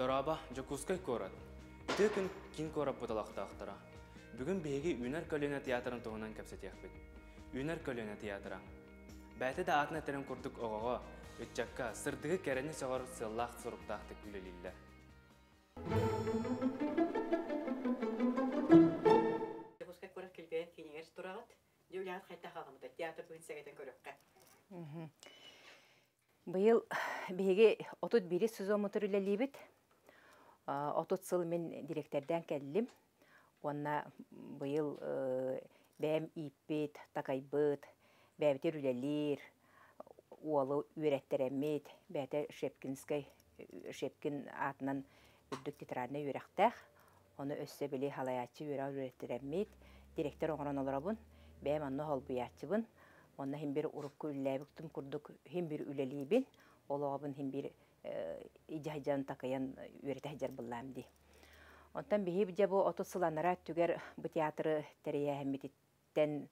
Дорообо, Дьокуускай куорат. Үтүө күн киин куораппыт олохтоохторо. Бүгүн биһиги Үүнэр көлүөнэ театрын туһунан кэпсэтиэхпит. Үүнэр көлүөнэ театра. Бэйэтэ да аатын этэрин курдук оҕоҕо, ыччакка сырдыгы кэрэни сөҕөр сыаллаах-соруктаахтык үлэлииллэр. Дьокуускай куорат килбэйэн киинигэр тураҕыт. Дьэ үлэҕит хайдах аҕамыта театр быһын сэгэтэн көрүөххэ. Быйыл биһиги 31 сезоммутугар үлэлиибит. 30 сыл мин дириэктэрдээн кэллим. Уонна быйыл бэйэм ииппит, такайбыт, бэйэбитигэр үлэлиир, уолу үөрэттэрэммит, бэйэтэ Шепкинскэй, Шепкин аатынан үрдүк театральнай үөрэхтээх. Ону өссө били халайааччы үөрэҕэр үөрэттэрэммит, директор оҥорон олоробун. Бэйэм онно холбуйааччыбын. Онно иһин бир урукку үлэлээбиттим курдук иһин бир үлэлиибин. Ол оҕобун иһин бир идьаһдьан такайан үөрэтэ сылдьар быллаам дии. Онтон биһи дьэ бу 30 сыл анараа өттүгэр бу театры тэрийээһиммититтэн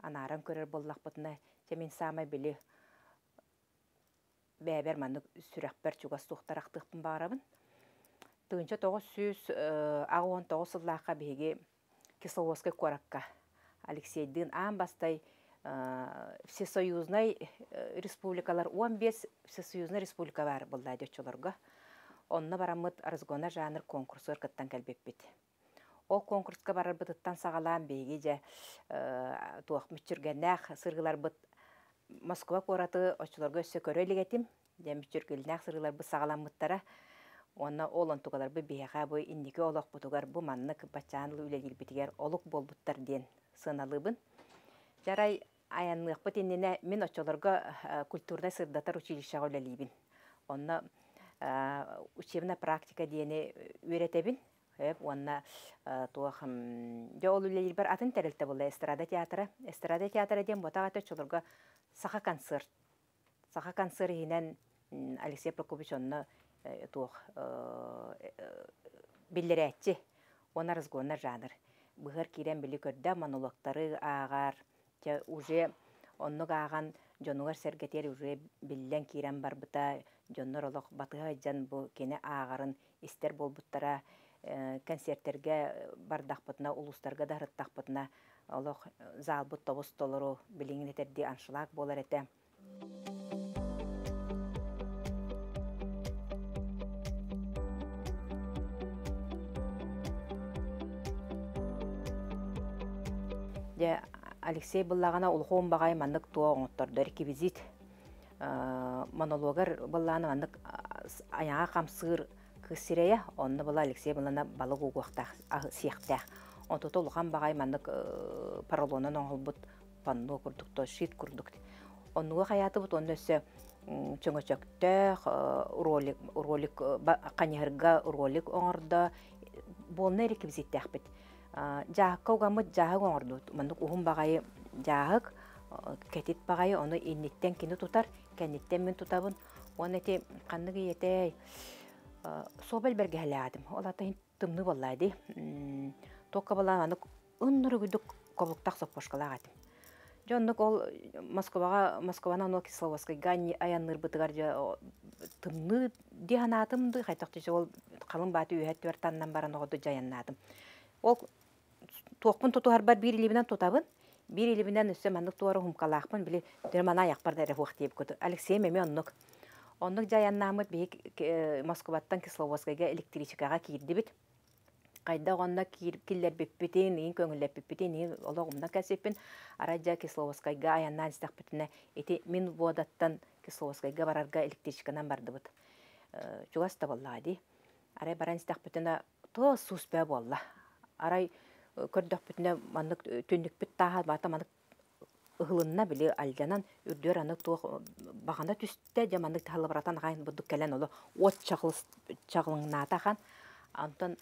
анааран көрөр буоллахпытына, дьэ мин саамай били бэйэбэр маннык сүрэхпэр чугас суохтар ахтыахпын баҕарабын. 1989 сыллаахха биһиги Кисловодскай куоракка Алексейдыын аан бастай Всесоюзнай республикалар 15 Всесоюзнай республика баар буолла оччолорго. Онно бараммыт разгона жанр конкурсугар кыттан кэлбиппит. Ол конкурска барарбытыттан саҕалаан биһиги дьэ туох мүччүргэннээх сырыыларбыт Москва куораты оччолорго өссө көрө илик этим. Дьэ мүччүргүллээх сырыыларбыт саҕаламмыттара. Уонна ол онтукаларбыт биһиэхэ бу инники олохпутугар бу маннык баччаан үлэлиирбитигэр олук буолбуттар диэн сыаналыыбын. Дьарай айанныахпыт иннинэ мин оччолорго культурнай сырдатар училищеҕа үлэлиибин. Онно учебная практика диэни үөрэтэбин. Уонна туох дьэ ол үлэлиирбэр атын тэрилтэ буолла эстрада театра. Эстрада театра диэн буотах этэ оччолорго саха концерт. Саха концерт иһинэн Алексей Прокопьевич онно туох биллэрээччи уонна разгоннар жанр. Быһар киирэн били көрдө монологтары ааҕар, дьэ уже оннук ааҕан дьонугар сэргэтиэр уже биллэн киирэн барбыта, дьоннор олох батыһа сылдьан бу кини ааҕарын истэр буолбуттара, концертэргэ бардахпытына, улуустарга да сырыттахпытына олох залбыт тобус толору билиҥин этэрдии аншлаг буолар этэ. Дьэ, Алексей быллаҕына улахан баҕайы маннык туох оҥоттордо реквизит монологар быллаана маннык айаҕа хамсыыр кыыс сирэйэ, онно была Алексей былана балык угуохтаах сиэхтээх. Онтута улахан баҕайы маннык поролонон оҥоһулбут панно курдук, то щит курдук. Оннуга хайаатыбыт онно өссө чөҥөчөктөөх ролик, ролик ханьыһарга ролик оҥордо. Буолна реквизиттээхпит. Дьааһыкка угаммыт дьааһык оҥордубут. Маннык уһун баҕайы дьааһык, кэтит баҕайы, ону инниттэн кини тутар, кэнниттэн мин тутабын. Уонна ити ханнык ийэтэй суобал бэргэһэлээтим. Ол ата тымныы буоллаа дии. Туохха балаан маннык ыннырыгыдык кобуктах соппошкалаах этим. Дьэ оннук ол Москваҕа Москваны ону Кисловодскайга айанныырбытыгар дьэ тымныы дии санаатым дыы хайдах дии ол халыҥ бааты үөһэ өттүгэр таннан баран оҕоду дьайаннаатым. Ол туохпун тутуһарбар биир илиибинэн тутабын, биир илиибинэн өссө маннык туора хумкалаахпын били мана айахпар да эрэ суох диэбит курдук. Алексей эмиэ оннук. Оннук дьайаннааммыт биһиги Москваттан Кисловодскайга электричкаҕа киирдибит. Хайдах онно киллэрбиппитин, иин көҥүллэппиппитин, иин олох умна кэлсиппин. Арай дьэ Кисловодскайга айаннаан истэхпитинэ, ити мин водаттан Кисловодскайга барарга электричканан бардыбыт. Чугас да буоллаҕа дии. Арай баран истэхпитинэ, туос сууспэ буолла. Арай көрдөхпүтүнэ маннык түннүкпүт тааһа бата маннык ыһылынна били алдьанан үрдүөр аны туох баҕана түстэ дьэ маннык таһылыбыратан аҕайн бурдук кэлэн оло уот чаҕылыҥнаата ахан онтон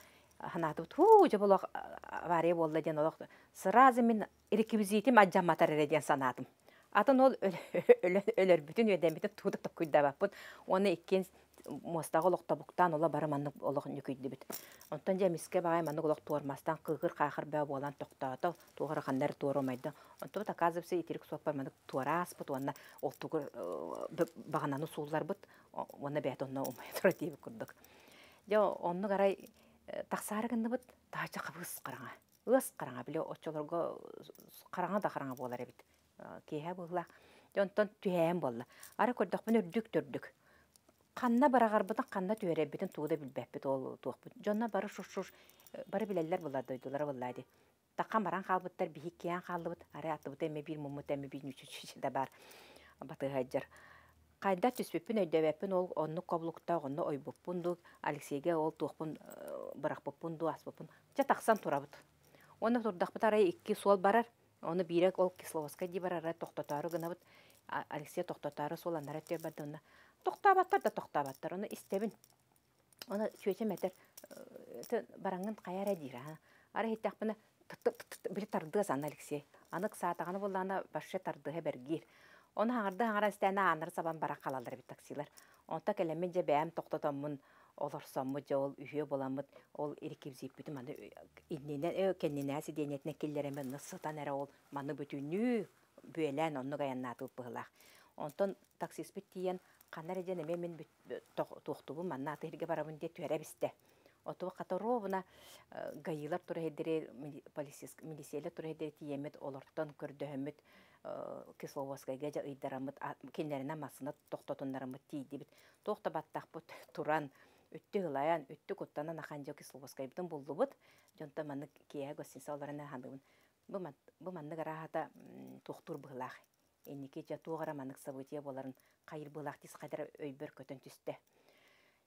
санаатыбыт һуу дьэ олох авария буолла диэн олох сразу мин реквизитим алдьамматар эрэ диэн санаатым атын ол өлөрбүтүн үөдэммитин тугу да токкуйдаабаппын уонна иккиэн Муостаҕа олох тобуктаан ола бары маннык олох ньүкүйдүбүт. Онтон дьэ эмискэ баҕайы маннык олох туормастаан кыыкыр-хаахыр бөҕө буолан тохтоото, туох эрэ ханна эрэ туора умайда. Онтубут оказывается итирик суоппар маннык туора ааспыт уонна ол тугу баҕананы суулларбыт уонна бэйэтэ онно умайа турар диэбит курдук. Дьэ оннук арай тахсаары гынныбыт, таһырдьа хабыс хараҥа. Ыас хараҥа, били оччолорго хараҥа да хараҥа буолар эбит. Киэһэ быһыылаах. Дьэ онтон түһээн буолла. Арай көрдөхпүнэ үрдүк төрдүк. Ханна быраҕарбытын, ханна түһэрэрбитин тугу да билбэппит ол туохпут. Дьонно бары шуш-шуш бары билэллэр буолла дойдулара буолла дии. Таххан баран хаалбыттар, биһик киээн хааллыбыт. Арай аттыбыта эмэ биир муммут эмэ биир нүчүчү да баар батыһа Хайдах түспүппүн өйдөөбөппүн, ол оннук коблуктаах онно ойбуппун дуу, Алексейга ол туохпун бырахпыппын дуу, аспыппын. Дьэ тахсан турабыт. Уонна турдахпыт арай икки суол барар. Ону биирэ ол Кисловодскай дии барар, тохтотоору гынабыт. Алексей тохтотоору суол аннара өттүгэр барда онно. Тохтооботтор да тохтооботтор. Ону истэбин. Ону чүөчэм этэр, бараҥҥын хайа эрэ диир. Арай иһиттэхпинэ били тардыас аны Алексей. Аны ыксаатаҕына буоллаҕына вообще тардыһа бэргиир. Ону хаҥарды хаҥара истээнэ ааннары сабан баран халаллар эбит таксилар. Онто кэлэммин дьэ бэйэм тохтотоммун олорсоммут дьэ ол үһүө буоламмыт ол реквизиппитин маны иннинэн кэннинээ сидиэнньэтинэн киллэрэммин онно сытан эрэ ол маны бүтүннүү бүөлээн оннук айаннаатыбыт быһыылаах. Онтон таксиспыт тиийэн ханна эрэ диэн эмиэ мин туохтуубун манна аты иһиргэ барабын диэ түһэрэ бистэ. Оту хата ровно гаилар тураһидери милициялар тураһидери тиийэммит олортон көрдөһөммүт Кисловодскайга дьэ ыйдараммыт кинилэринэн массыына тохтотуннараммыт тиийдибит. Туох да баттахпыт туран үттү ылайан, үттү куттанан ахан дьэ Кисловодскайбытын буллубут. Дьонтон маннык киэһэ гостиница олорон ханыыбын. Бу маннык арааһата туохтуур быһылаах. Инники дьэ туох эрэ маннык событие буоларын хайыр быһылаах дии хайдара өйбөр көтөн түстэ.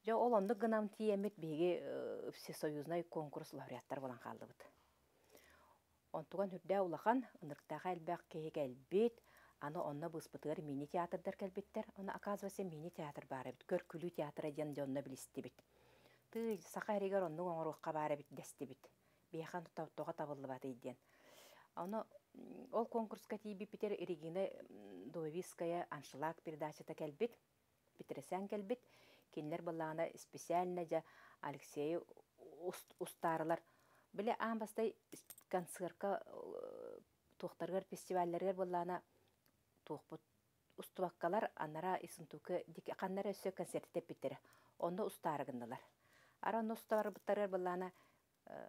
Дьэ ол оннук гынан тиийэммит биһиги всесоюзнай конкурс лауреаттар буолан хааллыбыт. Онтуган үрдээ улахан, ынырыктааха элбэх киһи кэлбит, аны онно быыспытыгар мини-театрдар кэлбиттэр. Ону оказывается мини-театр баар эбит, көр-күлүү театра диэн дьонно билистибит. Тыый, саха эригэр оннук оҥоруохха баар эбит дэстибит. Биһиэхэ тоҕо табыллыбатый диэн. Ону ол конкурска тиийбиппитигэр Регина Дубовицкая «Аншлаг» передачата кэлбит, Петросян кэлбит. Кинилэр былаана специально дьэ Алексейы устаарылар. Били аан бастай концертка туохтарыгар фестивалларыгар былаана туохпут устубаккалар анара Исунтука ханнара өссө концерт тэппиттэрэ. Онно устаары гыннылар. Ара онно устаарбыттарыгар былаана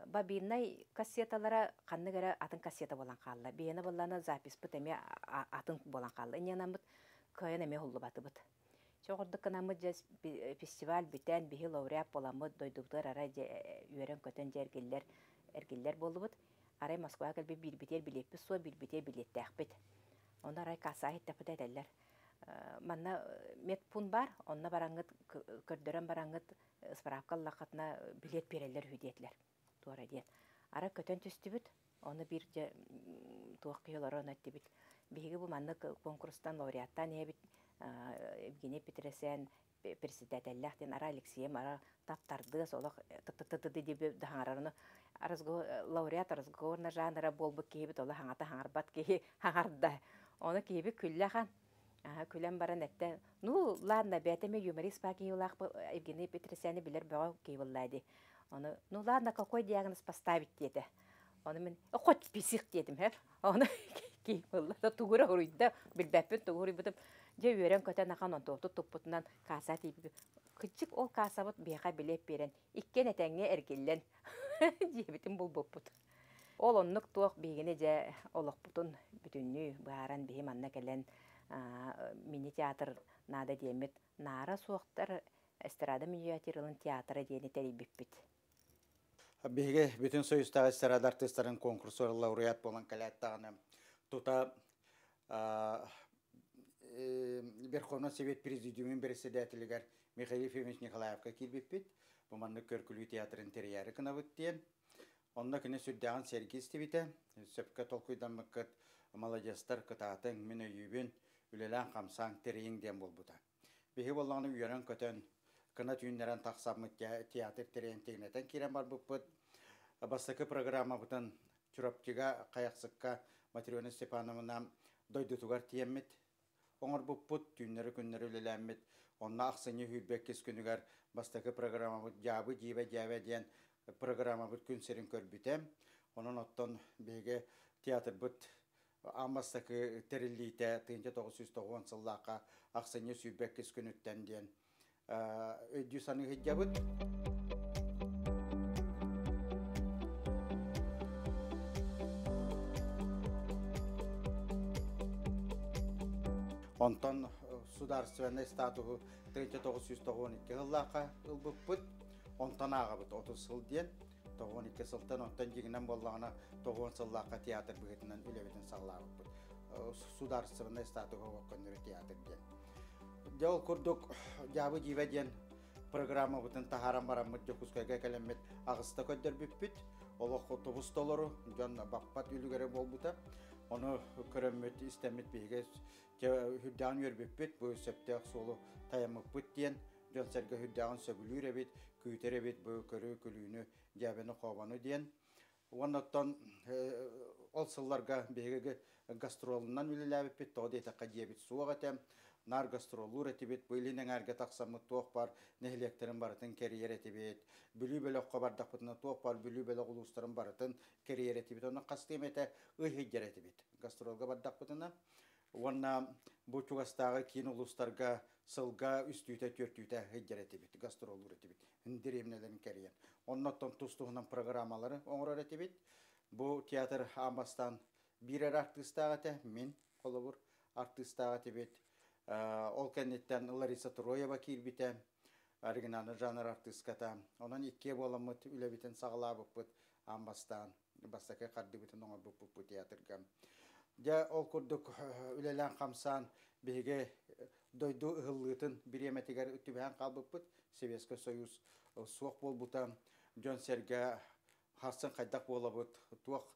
бобиннай кассеталара ханнык эрэ атын кассета буолан хаалла. Биһиэнэ буоллаана записпыт эмиэ атын буолан хаалла. Инньэнаммыт кыайан эмиэ уһуллубатыбыт. Чоҕурдук гынаммыт дьэ фестиваль бүтэн биһи лауреат буоламмыт дойдубутугар арай дьэ үөрэн-көтөн дьэ эргиллэр эргиллэр буоллубут. Арай Москваҕа кэлбит биирбитигэр билиэппит суох, биирбитигэр билиэттэхпит. Онно арай кассаҕа иһиттэхпитэ этэллэр. Манна медпункт баар, онно бараҥҥыт көрдөрөн бараҥҥыт справка ыллаххытына билиэт биэрэллэр үһү диэтилэр. Туора диэн. Арай көтөн түстүбүт, ону биир дьэ туох киһи олорон эттибит. Биһиги бу маннык конкурстан лауреаттаан иһэбит Евгений Петросян председателлээх диэн ара Алексеем ара таптардыас олох т-т-т диби хаҥарарыны лауреат разговорный жанра буолбут киһибит олох хаҥата хаҥарбат киһи хаҥарда. Ону киһибит күллэхан күлэн баран этте ну ладно бэйэтэ юморист баа киһи Евгений Петросяны билэр бөҕө киһи буолла ди. Ону ну ладно какой диагноз поставить диэтэ. Ону мин хоть псих диэтим хеп. Ону киһи буолла тугура хуруйда билбэппин тугу хуруйбутум. Дьэ үөрэн көтөн ахан онтуоту туппутунан кааса тиийбит. Кыччык ол каасабыт биэхэ билиэт биэрэн иккиэн этэҥҥэ эргиллэн дьиэбитин булбуппут. Ол оннук туох биһигини дьэ олохпутун бүтүннүү быһааран биһи манна кэлэн мини-театр наада диэммит наара суохтар эстрада миниатюралын театра диэни тэрийбиппит. Биһиги бүтүн союзтааҕы эстрада артыыстарын конкурсугар лауреат буолан кэлээттаҕына тута Верховный Совет Президиумун председателигэр Михаил Ефимович Николаевка киирбиппит. Бу маннык көркүлүү театрын тэрийээри гынабыт диэн. Онно кини сүрдээҕин сэргии истибитэ. Сөпкө толкуйдаммыккыт, маладьыастар, кытаатыҥ, мин өйүүбүн, үлэлээн хамсааҥ, тэрийиҥ диэн буолбута. Биһи буоллаҕына үөрэн-көтөн, кына түүннэрэн тахсаммыт театр тэрийэн тигинэтэн киирэн барбыппыт. Бастакы программабытын Чурапчыга, Хайахсыкка Матрена Степановна дойдутугар тиэммит. оҥорбуппут, түүннэри-күннэри үлэлээммит. Онно ахсынньы 22 күнүгэр бастакы программабыт «Дьаабы дьиибэ дьээбэ» диэн программабыт күн сирин көрбүтэ. Онон оттон биһиги театрбыт аан бастакы тэриллиитэ 1990 сыллаахха ахсынньы 22 күнүттэн диэн өйдүү саныы сылдьабыт. Онтон судаарственнай статуһу 1992 сыллаахха ылбыппыт. Онтон ааҕабыт 30 сыл диэн. 92 сылтан онтон дьиҥинэн буоллаҕына 90 сыллаахха театр быһыытынан үлэбитин саҕалаабыппыт. Судаарственнай статуһу көннөрү театр диэн. Дьэ ол курдук Дьаабы дьиибэ диэн программабытын таһааран бараммыт Дьокуускайга кэлэммит аҕыста көрдөрбүппүт. Олох тобус толору, дьон баппат үлүгэрэ буолбута. Ону көрөммүт, истэммит биһиги үрдээҕин үөрбүппүт, бу сөптөөх суолу тайаммыппыт диэн дьон-сэргэ үрдээҕин сөбүлүүр эбит, күүтэр эбит бу көрүү күлүүнү, дьээбэни-хообону диэн. Уонна оттон ол сылларга биһиги гастролунан үлэлээбиппит, тоҕо диэтэххэ дьиэбит суох этэ. Наар гастроллуур этибит, бу илин эҥээргэ тахсаммыт туох баар нэһилиэктэрин барытын кэрийэр этибит. Бүлүү бөлөххө бардахпытына туох баар Бүлүү бөлөх улуустарын барытын кэрийэр этибит. Онон хастыы эмэтэ ый сылдьар этибит гастролга бардахпытына. Уонна бу чугастааҕы киин улуустарга сылга үстүүтэ, түөртүүтэ сылдьар этибит, гастроллуур этибит, дэриэбинэлэрин кэрийэн. Оннуттан тус-туһунан программалары оҥорор этибит. Бу театр аан бастаан биир эрэ артыыстаах этэ, мин холобур артыыстаах этибит. Ол кэнниттэн Лариса Троева киирбитэ, оригинальный жанр артыыската. Онон иккиэ буоламмыт үлэбитин саҕалаабыппыт аан бастаан бастакы хардыыбытын оҥорбуппут бу театрга. Дьэ ол курдук үлэлээн хамсаан биһиги дойду ыһыллыытын бириэмэтигэр түбэһэн хаалбыппыт. Советский Союз суох буолбута. Дьон-сэргэ харсын хайдах буолабыт, туох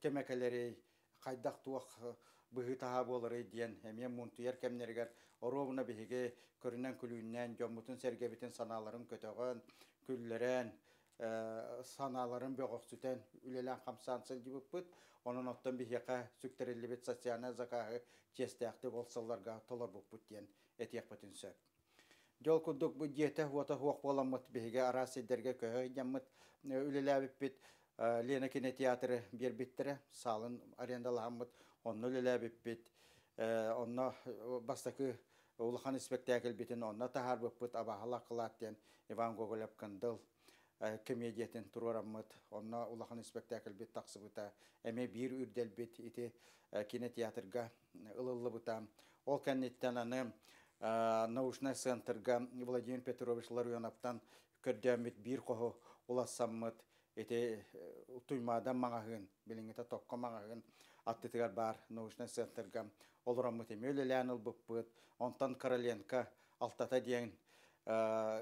кэмэ кэлэрий, хайдах туох быһыы-таһаа буоларый диэн эмиэ муунтуйар кэмнэригэр оруобуна биһиги көрүнэн күлүүннээн дьоммутун-сэргэбитин санааларын көтөҕөн, күллэрэн, санааларын бөҕөхсүтэн үлэлээн-хамсаан сылдьыбыппыт. Онон оттон биһиэхэ сүктэриллибит социальнай закаһы чиэстээхтик ол сылларга толорбуппут диэн этиэхпитин сөп. Дьол курдук бу дьиэтэ уота суох буоламмыт биһиги араас сирдэргэ көһө сылдьаммыт үлэлээбиппит. Лена кинотеатры биэрбиттэрэ, саалын арендалаһаммыт, онно үлэлээбиппит. Онно бастакы улахан испэктээкилбитин онно таһаарбыппыт «Абааһылаах кылаат» диэн Иван Гоголев-Кындыл комедиятын туруораммыт, онно улахан испэктээкилбит тахсыбыта. Эмиэ биир үрдэлбит ити кинотеатрга ылыллыбыта. Ол кэнниттэн аны научнай центрга Владимир Петрович Ларионовтан көрдөөммүт биир хоһу улассаммыт ити Туймаадан маҕаһыын, билиҥҥитэ Токко маҕаһыын аттытыгар баар научнай центрга олороммут эмиэ үлэлээн ылбыппыт. Онтон Короленко алтата диэн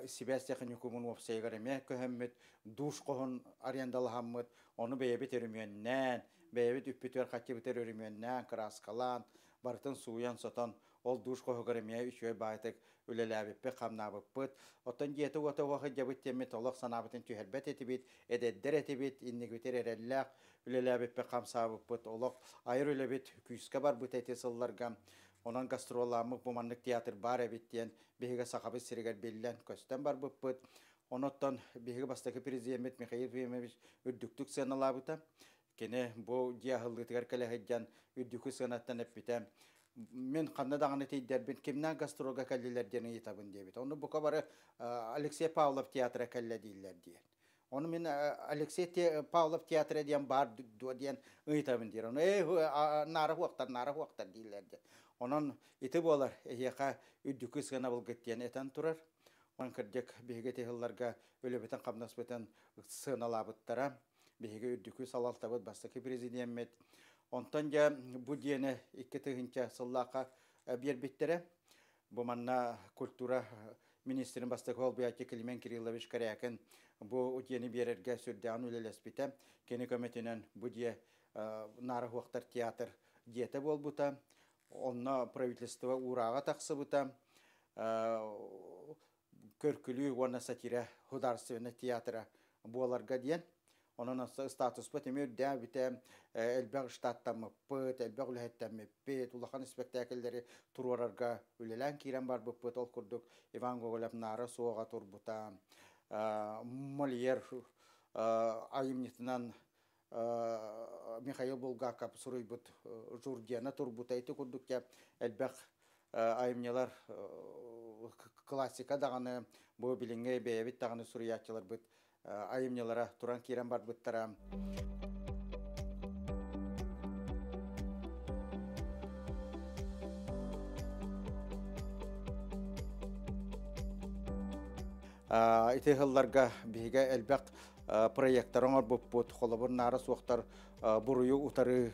сибээс техникумун уопсайыгар эмиэ көһөммүт, душ хоһун арендалаһаммыт, ону бэйэбит өрөмүөннээн, бэйэбит үппүтүгэр хаччыбытыгар өрөмүөннээн, кырааскалаан, барытын сууйан-сотон, ол душ хоһугар эмиэ үчүгэй баайтык үлэлээбиппит, хамнаабыппыт. Оттон дьиэтэ уота уох сылдьабыт диэммит олох санаабытын түһэрбэт этибит, эдэрдэр этибит, иннигибитигэр эрэллээх үлэлээбиппит, хамсаабыппыт, олох айар үлэбит күүскэ барбыт эти сылларга. Онон гастроллааммыт бу маннык театр баар эбит диэн биһиги Сахабыт сиригэр биллэн, көстөн барбыппыт. Онуттан биһиги бастакы президеммит Михаил Ефимович үрдүктүк сыаналаабыта. Кини бу дьиэ аһыллыытыгар кэлэ сылдьан үрдүкү сыанаттан эппитэ. Мин ханна даҕаны тиийдэрбин кимнээх гастролга кэллилэр диэн ыйытабын диэбит. Ону бука бары Алексей Павлов театра кэллэ дииллэр диэн. Ону мин Алексей Павлов театра диэн баар дуо диэн ыйытабын диир. Ону наара хуохтар, наара хуохтар дииллэр диэн. Онон ити буолар эһиэхэ үрдүкү сыанабылгыт диэн этэн турар. Онон кырдьык биһиги ити сылларга үлэбитин-хамнаспытын сыаналаабыттара. Биһиги үрдүкү салалтабыт бастакы президеммит. Онтон дьэ бу диэни 2000 сыллаахха биэрбиттэрэ. Бу манна культура министрин бастакы солбуйааччы Климент Кириллович Корякин бу дьиэни биэрэргэ сүрдээҕин үлэлэспитэ. Кини көмөтүнэн бу дьиэ Наара Хуохтар театр дьиэтэ буолбута. Онно правительство уурааҕа тахсыбыта. Көркүлүү уонна сатира художественный театра буоларга диэн. Онон статуспут эмиэ үрдээбитэ, элбэх штаттаммыппыт, элбэх үлэһиттэммиппит, улахан спектакльлэри туруорарга үлэлээн киирэн барбыппыт. Ол курдук Иван Гоголев Наара суоҕа турбута, Мольер айымньытынан Михаил Булгаков суруйбут Журдена турбута. Ити курдук элбэх айымньылар классика даҕаны, бу билиҥҥи бэйэбит даҕаны суруйааччыларбыт айымньылара туран киирэн барбыттара. Ити сылларга биһигэ элбэх проекттар оҥорбуппут, холобур наара суохтар буруйу утары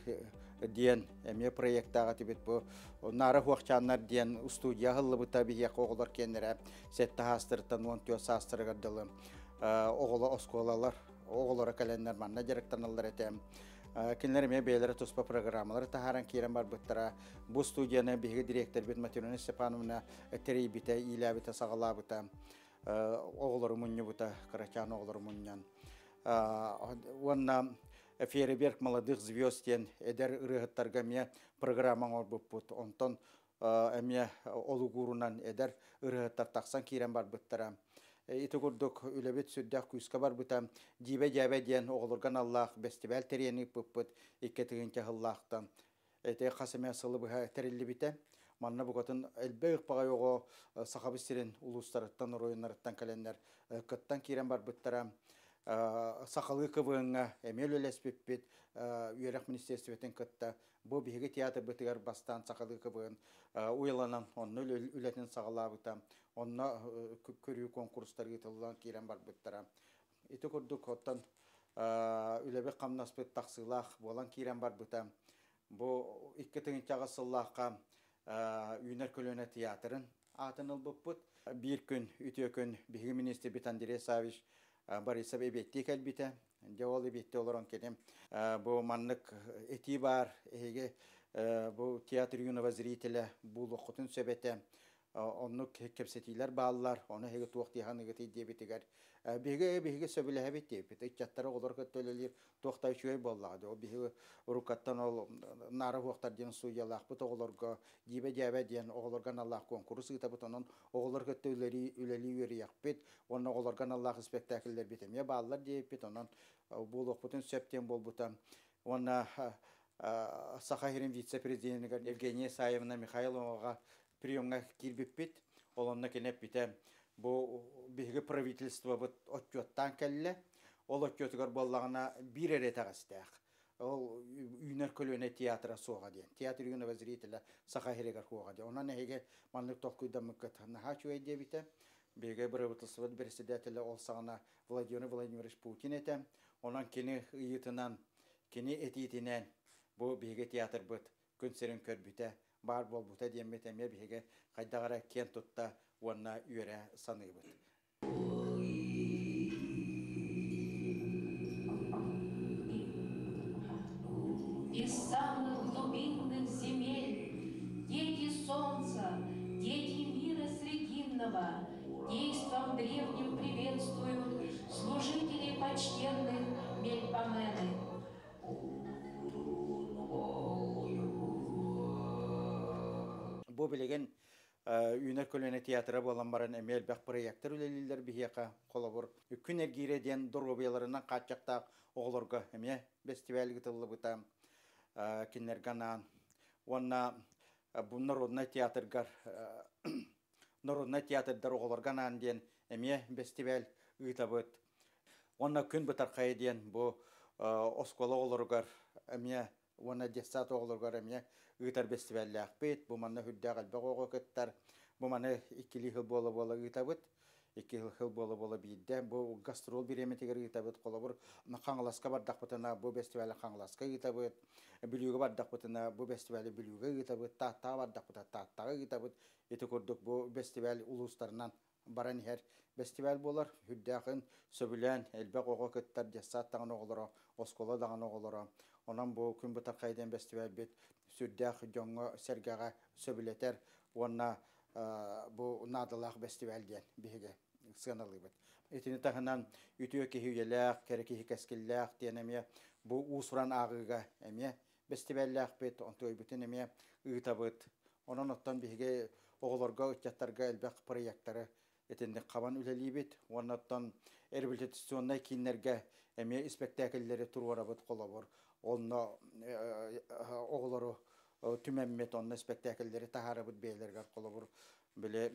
диэн эмиэ проекттаах этибит. Бу наара хуохчааннар диэн студия аһыллыбыта, биһиэхэ оҕолор киэннэрэ 7 саастарыттан 14 саастарыгар дылы оҕоло оскуолалар оҕолоро кэлэннэр манна дьарыктаналлар этэ. Кинилэр эмиэ бэйэлэрэ туспа программалары таһааран киирэн барбыттара. Бу студияны биһиги директорбит Матрена Степановна тэрийбитэ, иилээбитэ, саҕалаабыта. Оҕолору мунньубута, кырачаан оҕолору мунньан. Уонна Фейерверк молодых звезд диэн эдэр ырыаһыттарга эмиэ программа оҥорбуппут. Онтон эмиэ олугуурунан эдэр ырыаһыттар тахсан киирэн барбыттара. Ити курдук үлэбит сүрдээх күүскэ барбыта. Дьиибэ-дьээбэ диэн оҕолорго аналлаах бэстибээл тэрийэн ыыппыппыт 2 тыһыынча сыллаахтан. Ити хас эмэ сылы быһа тэриллибитэ. Манна букатын элбэх баҕайы оҕо Сахабыт сирин улуустарыттан, оройуоннарыттан кэлэннэр кыттан киирэн барбыттара. Сахалыы КВН-ҥа эмиэ үлэлэспиппит үөрэх министерствотын кытта. Бу биһиги театрбытыгар бастаан сахалыы КВН уйаланан онно үлэтин саҕалаабыта. Онно көрүү конкурстар ыытыллан киирэн барбыттара. Ити курдук оттон үлэбит хамнаспыт тахсыылаах буолан киирэн барбыта. Бу 2008 сыллаахха Үүнэр көлүөнэ театрын аатын ылбыппыт. Биир күн, үтүө күн биһиги министрбит Андрей Савич Борисов эбиэттии кэлбитэ. Дьэ ол эбиэттии олорон кини бу маннык этии баар, эһиги бу театр юного зрителя буолуоххутун сөп этэ. Оннук кэпсэтиилэр бааллар, ону эһиги туох дии саныыгытый диэбитигэр биһиги сөбүлэһэбит диэбит. Ыччаттары оҕолор кытта үлэлиир туох да үчүгэй буоллаҕа. Ол биһиги уруккаттан ол наара суохтар диэн студиялаахпыт оҕолорго дьиибэ-дьээбэ диэн оҕолорго аналлаах куонкурус ыытабыт. Онон оҕолор кытта үлэлии үлэлии үөрүйэхпит уонна оҕолорго аналлаах испэктээкиллэрбит эмиэ бааллар диэбиппит. Онон буолуохпутун сөп диэн буолбута. Уонна Саха сирин вице-президенигэр Евгения Исаевна Михайловаҕа приемҥа киирбиппит. Ол онно кини эппитэ, бу биһиги правительствобыт отчуоттаан кэллэ. Ол отчуотугар буоллаҕына биир эрэ итэҕэстээх. Ол үүнэр көлүөнэ театра суоҕа диэн. Театр юного зрителя Саха сиригэр суоҕа диэн. Онон эһиги маннык толкуйдаммыккыт наһаа үчүгэй диэбитэ. Биһиги правительствобыт председателэ ол саҕана Владимир Владимирович Путин этэ. Онон кини ыйыытынан, кини этиитинэн бу биһиги театрбыт күн сирин көрбүтэ, баар буолбута диэммит эмиэ биһиги хайдах эрэ киэн тутта уонна үөрэ саныыбыт. Из самых глубинных земель, дети солнца, дети мира срединного, действом древним приветствуют служителей почтенных Мельпомены. Бу билигин Үүнэр көлүөнэ театра буолан баран эмиэ элбэх проектар үлэлииллэр биһиэхэ. Холобур, Күн эргиирэ диэн доруобуйаларынан хааччахтаах оҕолорго эмиэ бэстибээл ыытыллыбыта кинилэргэ анаан. Уонна бу народнай театргар народнай театрдар оҕолорго анаан диэн эмиэ бэстибээл ыытабыт. Уонна Күн бытархайа диэн бу оскуола оҕолоругар эмиэ уонна детсад оҕолоругар эмиэ ыытар бэстибээллээхпит. Бу манна үрдээх элбэх оҕо кыттар. Бу маны иккилии сыл буола-буола ыытабыт. Икки сыл буола-буола биирдэ. Бу гастрол бириэмэтигэр ыытабыт. Холобур, Хаҥаласка бардахпытына бу бэстибээли Хаҥаласка ыытабыт. Бүлүүгэ бардахпытына бу бэстибээли Бүлүүгэ ыытабыт. Тааттаҕа бардахпытына Тааттаҕа ыытабыт. Ити курдук бу бэстибээл улуустарынан баран иһэр бэстибээл буолар. Үрдээхин сөбүлээн элбэх оҕо кыттар, детсад даҕаны оҕолоро, оскуола даҕаны оҕолоро. Онон бу Күн бытархай диэн бэстибээлбит сүрдээх дьоҥҥо-сэргэҕэ сөбүлэтэр уонна бу наадалаах бэстибээл диэн биһиги сыаналыыбыт. Итини таһынан үтүө киһи үйэлээх, кэрэ киһи кэскиллээх диэн эмиэ бу уус-уран ааҕыыга эмиэ бэстибээллээхпит, онтуойбутун эмиэ ыытабыт. Онон оттон биһиги оҕолорго, ыччаттарга элбэх проекттары итинник хабан үлэлиибит. Уонна оттон реабилитационнай кииннэргэ эмиэ испэктээкиллэри туруорабыт холобур. Онно оҕолору түмэммит, онно испэктээкиллэри таһаарабыт бэйэлэригэр холобур. Били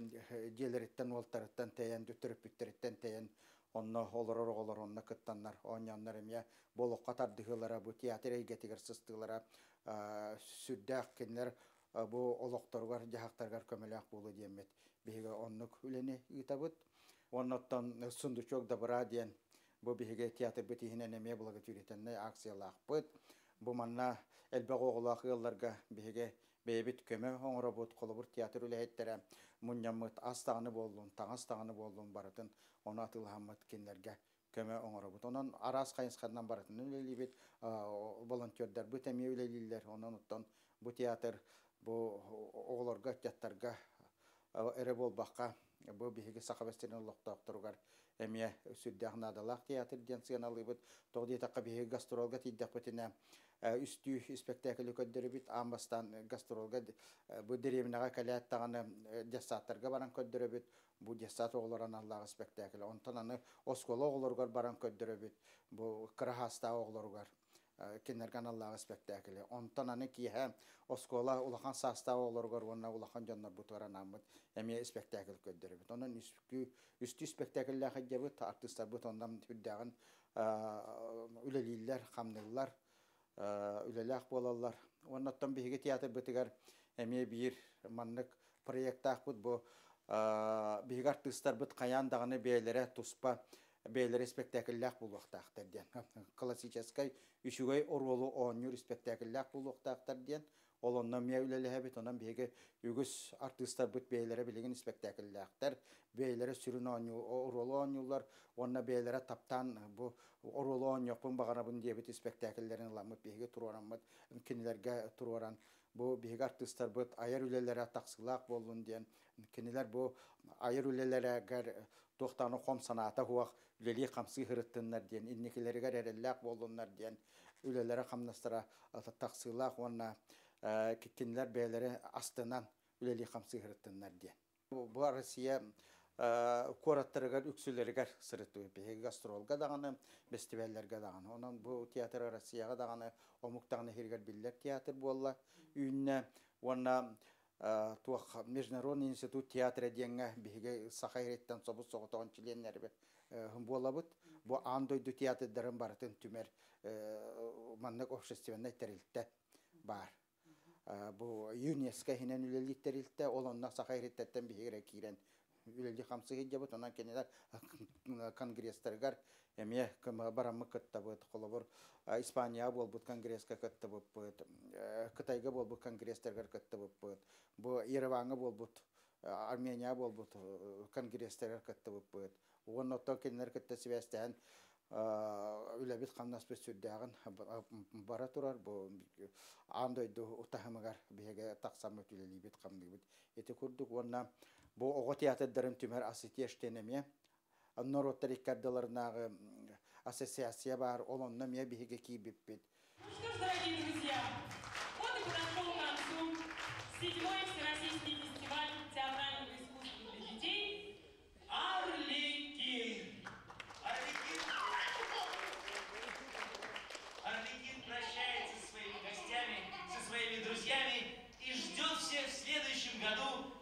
дьиэлэриттэн, уолтарыттан тэйэн, төрөппүттэриттэн тэйэн, онно олорор оҕолор онно кыттаннар, оонньооннор эмиэ бу олоххо тардыһыылара, бу театр эйгэтигэр сыстыылара сүрдээх кинилэр бу олохторугар, дьаһахтарыгар көмөлөөх буолуо диэммит биһиги оннук үлэни ыытабыт. Оннуттан «Сундучок добра» диэн бу биһиги театрбыт иһинэн эмиэ благотворительнай акциялаахпыт. Бу манна элбэх оҕолоох ыалларга биһиги бэйэбит көмө оҥоробут, холобур театр үлэһиттэрэ мунньаммыт ас даҕаны буоллун, таҥас даҕаны буоллун барытын ону атыылаһаммыт кинилэргэ көмө оҥоробут. Онон араас хайысханан барытын үлэлиибит, волонтердарбыт эмиэ үлэлииллэр. Онон оттон бу театр бу оҕолорго, ыччаттарга эрэ буолбакка, бу биһиги Саха сирин олохтоохторугар эмиэ сүрдээх наадалаах театр диэн сыаналыыбыт. Тоҕо диэтэххэ биһиги гастролга тиийдэхпитинэ үстүү испэктээкили көрдөрөбүт. Аан бастаан гастролга бу дэриэбинэҕэ кэлээт даҕаны детсадтарга баран көрдөрөбүт. Бу детсад оҕолоро аналлаах испэктээкили. Онтон аны оскуола оҕолоругар баран көрдөрөбүт. Бу кыра саастаах оҕолоругар кинилэргэ аналлаах испэктээкили. Онтон аны киэһэ оскуола улахан саастаах оҕолоругар уонна улахан дьоннорбутугар анааммыт эмиэ испэктээкил көрдөрөбүт. Онон үстүү испэктээкиллээх илдьэбит, артыыстарбыт онон сүрдээҕин үлэлииллэр, хамныыллар, үлэлээх буолаллар. Оннуттан биһиги театрбытыгар эмиэ биир маннык проекттаахпыт бу биһиги артыыстарбыт хайаан даҕаны бэйэлэрэ туспа бэйэлэрэ испэктээкиллээх буолуохтаахтар диэн. Классическай үчүгэй оруолу оонньуур испэктээкиллээх буолуохтаахтар диэн. Ол онно эмиэ үлэлэһэбит, онон биһиги үгүс артыыстарбыт бэйэлэрэ билигин испэктээкиллээхтэр, бэйэлэрэ сүрүн оонньуу оруолу оонньууллар уонна бэйэлэрэ таптаан бу оруолу оонньуохпун баҕарабын диэбит испэктээкиллэрин ыламмыт биһиги туруораммыт, кинилэргэ туруоран бу биһиги артыыстарбыт айар үлэлэрэ тахсыылаах буоллун диэн, кинилэр бу айар үлэлэригэр туохтааны хом санаата суох үлэлии хамсыы сырыттыннар диэн, инникилэригэр эрэллээх буоллуннар диэн үлэлэрэ хамнастара тахсыылаах уонна кинилэр бэйэлэрэ астынан үлэлии хамсыы сырыттыннар диэн. Бу Россия куораттарыгар үксүлэригэр сырыттыбыт. Биһиги гастролга даҕаны, бэстибээллэргэ даҕаны. Онон бу театр Россияҕа даҕаны, омук даҕаны иһигэр биллэр театр буолла үүннэ. Уонна туох Международный институт театра диэҥҥэ биһиги Саха сириттэн собус соҕотоҕун чилиэннэрбит буолабыт. Бу аан дойду театрдарын барытын түмэр маннык общественнай тэрилтэ баар. Бу ЮНЕСКО иһинэн үлэлиир тэрилтэ, ол онно Саха сириттэн биһиги киирэн үлэлии хамсыы сылдьабыт. Онон кинилэр конгресстарыгар эмиэ бараммыт кыттабыт. Холобур, Испанияҕа буолбут конгресска кыттыбыппыт, Кытайга буолбут конгресстарыгар кыттыбыппыт, бу Ереваҥҥа буолбут, Арменияҕа буолбут конгресстарыгар кыттыбыппыт. Уонна оттон кинилэр кытта сибээстээн үлэбит хамнаспыт сүрдээҕин бара турар. Бу аан дойду таһымыгар биһиги тахсаммыт үлэлиибит, хамныыбыт. Ити курдук уонна бу оҕо театрдарын түмэр Ассотиэш диэн эмиэ норуоттар икки ардыларынааҕы ассоциация баар, ол онно эмиэ биһиги киирбиппит. Ну что ж, дорогие друзья, вот и подошел к концу седьмой Всероссийский фестиваль театрального искусства для детей «Арлекин». Арлекин, Арлекин прощается со своими гостями, со своими друзьями и ждет всех в следующем году.